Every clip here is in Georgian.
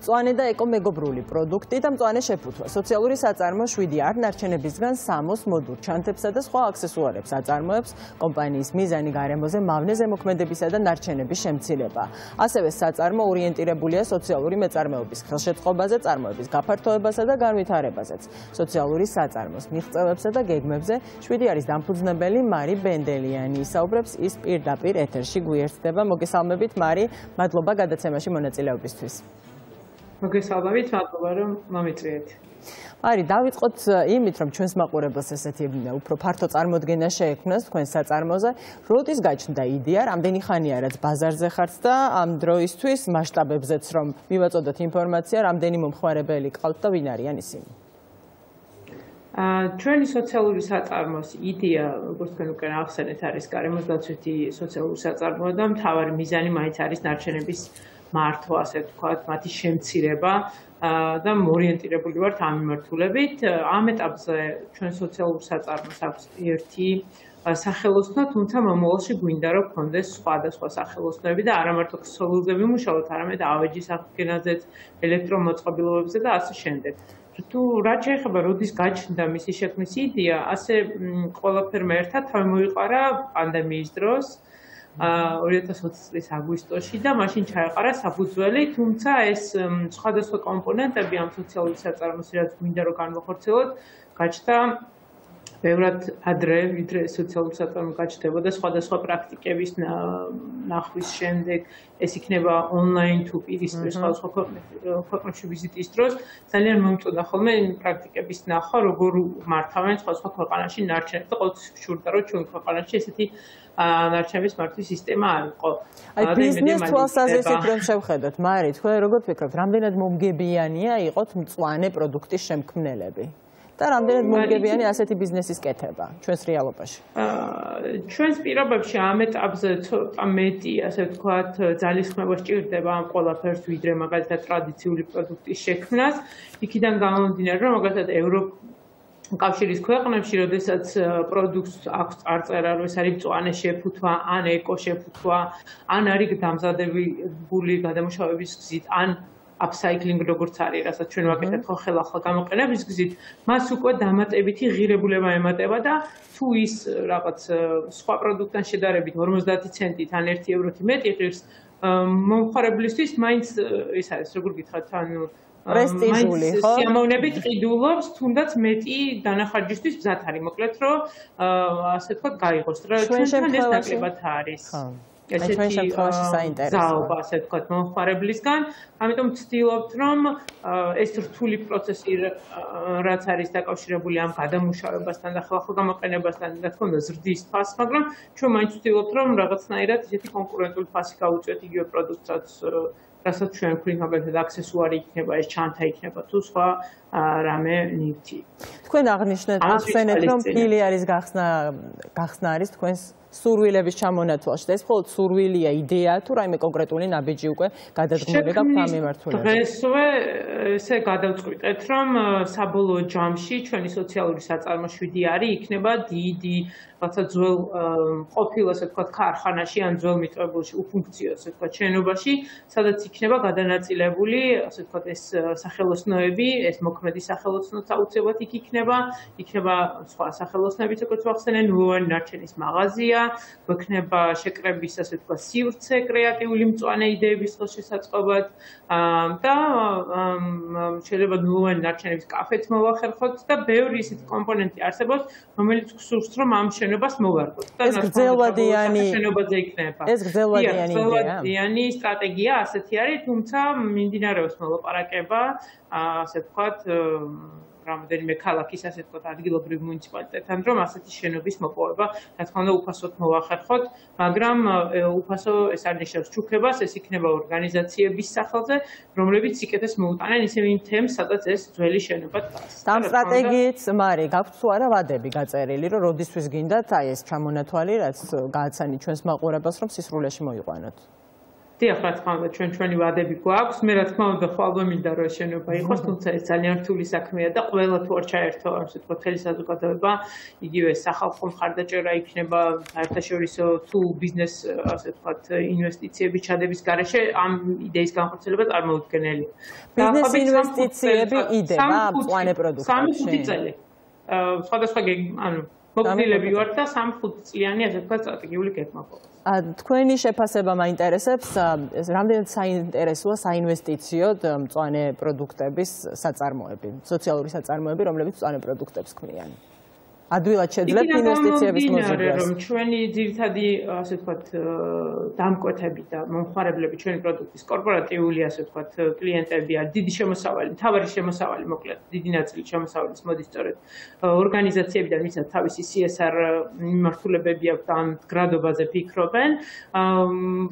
მწვანე და ეკომეგობრული პროდუქტი და მწვანე შეფუთვა. სოციალური საწარმო 7 არნარჩენებისგან 60 მოდურ ჩანთებსა და სხვა აქსესუარებს აწარმოებს. კომპანიის მიზანი გარემოზე მავნე ზემოქმედებისა და ნარჩენების შემცირება. ასევე საწარმო ორიენტირებულია სოციალური მეწარმეობის ხელშეწყობაზე, წარმოების გაფართოებასა და განვითარებაზეც. სოციალური საწარმოს მიღწევებსა და გეგმებზე 7 არის დამფუძნებელი მარი ბენდელიანი. ისაუბრებს ის პირდაპირ ეთერში გვიერთდება. მოგესალმებით მარი, მადლობა გადაცემაში მონაწილეობისთვის. მოგესალმებით, მადლობა რომ მომიწვიეთ. მარი, დავიწყოთ იმით, რომ ჩვენს მაყურებელს ესეთი უფრო ფართო წარმოდგენა შეექმნას თქვენ საწარმოზე. როდის გაჩნდა იდეა, რამდენი ხანია რაც ბაზარზე ხართ და ამ დროისთვის მასშტაბებზეც რომ მივაწოდოთ ინფორმაცია, რამდენი მომხმარებელი ყავთ და ვინ არიან ისინი? ჩვენი სოციალური საწარმოს იდეა, როგორც თქვენ უკვე ახსენეთ, არის გარემოსდაცვითი სოციალური საწარმო და მთავარი მიზანი მაინც არის ნარჩენების მართვა, ასე ვთქვათ, მათი შემცირება და ორიენტირებული ვართ ამ მიმართულებით. ამ ეტაპზე ჩვენ სოციალურ საწარმოს აქვს ერთი სახელოსნო, თუმცა მომავალში გვინდა რომ გქონდეს სხვადასხვა სახელოსნოები და არა მარტო ქსოვილზე ვიმუშაოთ, არამედ ავეჯის აღდგენაზეც, ელექტრომოწყობილობებზე და ასე შემდეგ. თუ რაც შეეხება როდის გაჩნდა მისი შექმნის იდეა, ასე ყველაფერმა ერთად თავი მოიყარა პანდემიის დროს 2020 წლის აგვისტოში და მაშინ ჩაეყარა საფუძველი, თუმცა ეს სხვადასხვა კომპონენტები ამ სოციალური საწარმოს რაც გვინდა რომ განვახორციელოთ, გაჩნდა ბევრად ადრე, ვიდრე სოციალური საწარმო გაჩნდებოდა სხვადასხვა პრაქტიკების ნახვის შემდეგ, ეს იქნება ონლაინ თუ პირისპირ სხვადასხვა ქვეყნებში ვიზიტის დროს, ძალიან მომწონდა ხოლმე პრაქტიკების ნახვა, როგორ მართავენ სხვადასხვა ქვეყანაში ნარჩენებს და ყოველთვის ვშურდა, რომ ჩვენ ქვეყანაში ესეთი ნარჩენების მართვის სისტემა არ იყო. აი ბიზნეს თვალსაზრისით რომ შევხედოთ, მარი, თქვენ როგორ ფიქრობთ, რამდენად მომგებიანია იყოთ მწვანე პროდუქტის შემქმნელები? და რამდენად მომგებიანი ასეთი ბიზნესის კეთება ჩვენს რეალობაში? ჩვენს პირობებში ამ ეტაპზე ცოტა მეტი, ასე ვთქვათ, ძალისხმევა სჭირდება ამ ყველაფერს, ვიდრე მაგალითად ტრადიციული პროდუქტის შექმნას. იქიდან გამომდინარე, რომ მაგალითად კავშირის ქვეყნებში, როდესაც პროდუქტს აქვს წარწერა, რომ ეს არის მწვანე შეფუთვა, ან ეკო შეფუთვა, ან არის დამზადებული გადამუშავების გზით, ან upcycling როგორც არის, რასაც ჩვენ ვაკეთებთ ხო ხელახლა გამოყენების გზით, მას უკვე დამატებითი ღირებულება ემატება და თუ ის რაღაც სხვა პროდუქტთან შედარებით 50 ცენტით ან 1 ევროთი მეტი ღირს, მომხმარებლისთვის მაინც ის არის, როგორ გითხრათ, ანუ პრესტიჟული, ხო? სიამოვნებით ყიდულობს, თუნდაც მეტი დანახარჯისთვის მზად არის, მოკლედ რომ ასე ვთქვათ, გაიღოს, რა ჩვენთან ეს ნაკლებად არის. ჩვენ შემთხვევაში საინტერესოა. ზაობა, ასე ვთქვათ, მომხმარებლისგან, ამიტომ ვცდილობთ, რომ ეს რთული პროცესი რაც არის დაკავშირებული ამ გადამუშავებასთან და ხელახლა გამოყენებასთან და თქონდა ზრდის ფასს, მაგრამ ჩვენ მაინც ვცდილობთ, რომ რაღაცნაირად ისეთი კონკურენტული ფასი გავუწიოთ იგივე პროდუქტსაც, რასაც ჩვენ ვქვით, მაგალითად აქსესუარი იქნება, ეს ჩანთა იქნება თუ სხვა რამე ნივთი. თქვენ აღხსენეთ, რომ ფილი არის გახსნა არის თქვენს სურვილების ჩამონათვალში და ეს მხოლოდ სურვილია, იდეაა თუ რაიმე კონკრეტული ნაბიჯი უკვე გადადგმული გაქვთ ამ მიმართულებით? დღესვე ესე გადავწყვიტეთ, რომ საბოლოო ჯამში ჩვენი სოციალური საწარმო 7 არის, იქნება დიდი რაღაცა ძველ ყოფილ, ასე ვთქვათ, ქარხანაში ან ძველ მიტოვებულში, უფუნქციო, ასე ვთქვათ, შენობაში, სადაც იქნება გადანაწილებული, ასე ვთქვათ, ეს სახელოსნოები, ეს მოქმედი სახელოსნოც აუცილებლად იქ იქნება სხვა სახელოსნოებიც, როგორც ვახსენე, ნულოვანი ნარჩენის მაღაზია, გვექნება შეკრების, ასე ვთქვათ, სივრცე კრეატიული მწვანე იდეების ხელშესაწყობად და შეიძლება ნულოვანი ნარჩენების კაფეც მოვახერხოთ და ბევრი ისეთი კომპონენტი არსებობს, რომელიც გსურს, რომ ამ შენობას მოვარგოთ. ეს გრძელვადიანი შენობაზე იქნება. ეს გრძელვადიანი იდეა. გრძელვადიანი სტრატეგია ასეთი არის, თუმცა მიმდინარეობს მოლაპარაკება, ასე ვთქვათ, რამდენიმე ქალაქის, ასე ვთქვათ, ადგილობრივ მუნიციპალიტეტთან, რომ ასეთი შენობის მოპოვება, რა თქმა უნდა, უფასოდ მოვახერხოთ, მაგრამ უფასო ეს არ ნიშნავს ჩუქებას, ეს იქნება ორგანიზაციების სახელზე, რომლებიც სიკეთეს მოუტანენ ისევ იმ თემს, სადაც ეს ძველი შენობა დგას. ამ სტრატეგიით, მარი, გაქვთ თუ არა ვადები გაწერილი, რომ როდისთვის გინდათ აი ეს ჩამონათვალი, რაც გააცანი ჩვენს მაყურებელს, რომ სისრულეში მოიყვანოთ? დიახ, რა თქმა უნდა, ჩვენი ვადები გვაქვს. მე რა თქმა უნდა, ხვალ მინდა რომ ეს შენობა იყოს, თუმცა ეს ძალიან რთული საქმეა და ყველა თუ არ ჩაერთო, ასე ვთქვათ, მთელი საზოგადოება, იგივე სახალხო მხარდაჭერა იქნება, საერთაშორისო თუ ბიზნეს, ასე ვთქვათ, ინვესტიციების ჩადების გარეშე ამ იდეის განხორციელება წარმოუდგენელია. ბიზნეს ინვესტიციები იდება მწვანე პროდუქტებში. 3-5 წელი. სხვადასხვა ანუ მოგზილები ვართ და 3-5 წლიანი, ასე ვთქვათ, სტრატეგიული გეგმა გვაქვს. თქვენი შეფასება მაინტერესებს, რამდენად საინტერესოა საინვესტიციოდ მწვანე პროდუქტების საწარმოები, სოციალური საწარმოები, რომლებიც მწვანე პროდუქტებს ქმნიან. ადვილად შეძლებთ ინვესტიციების მოზიდვას. რომ ჩვენი ძირითადი, ასე ვთქვათ, დამკვეთები და მომხმარებლები ჩვენი პროდუქტის კორპორატიული, ასე ვთქვათ, კლიენტები არის დიდი შემოსავალი, მთავარი შემოსავალი, მოკლედ, დიდი ნაწილი შემოსავლის მოდის სწორედ ორგანიზაციებიდან, ვისაც თავისი CSR მიმართულებები აქვს და ამ გრადობაზე ფიქრობენ.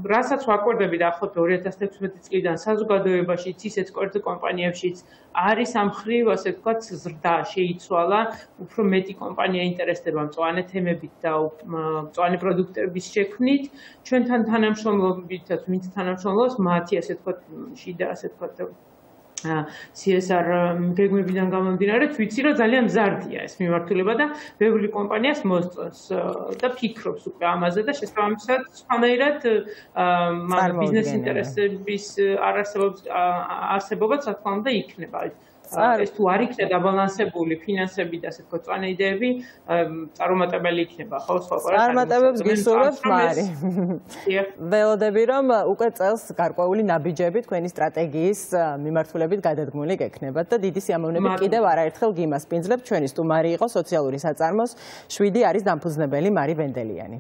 რასაც ვაკვირდები დაახლოებით 2016 წლიდან საზოგადოებაშიც, ისეთ კომპანიებშიც არის ამ მხრივ, ასე ვთქვათ, ზრდა შეიცვალა, უფრო მეტი კომპანია ინტერესდება მწვანე თემებით და მწვანე პროდუქტების შექმნით. ჩვენთან თანამშრომლობითაც, ვინც თანამშრომლობს, მათი, ასე ვთქვათ, შიდა, ასე ვთქვათ, CSR გეგმებიდან გამომდინარე, ვიცი, რომ ძალიან მზარდია ეს მიმართულება და ბევრი კომპანიას მოსწონს და ფიქრობს უკვე ამაზე და შესაბამისად, სხვანაირად ბიზნეს ინტერესების არსებობაც, რა თქმა უნდა, იქნება. ეს თუ არ იქნება დაბალანსებული ფინანსები და ასე ვთქვათ, მწვანე იდეები, წარუმატებელი იქნება, ხო, სხვა ყველას. წარმატებებს გისურვებთ, მარი. ველოდები, რომ უკვე წელს გარკვეული ნაბიჯები თქვენი სტრატეგიის მიმართულებით გადადგმული გექნებათ და დიდი სიამოვნებით კიდევ არაერთხელ გიმასპინძლებ. ჩვენი სტუმარი იყო სოციალური საწარმოს 7 არის დამფუძნებელი მარი ვენდელიანი.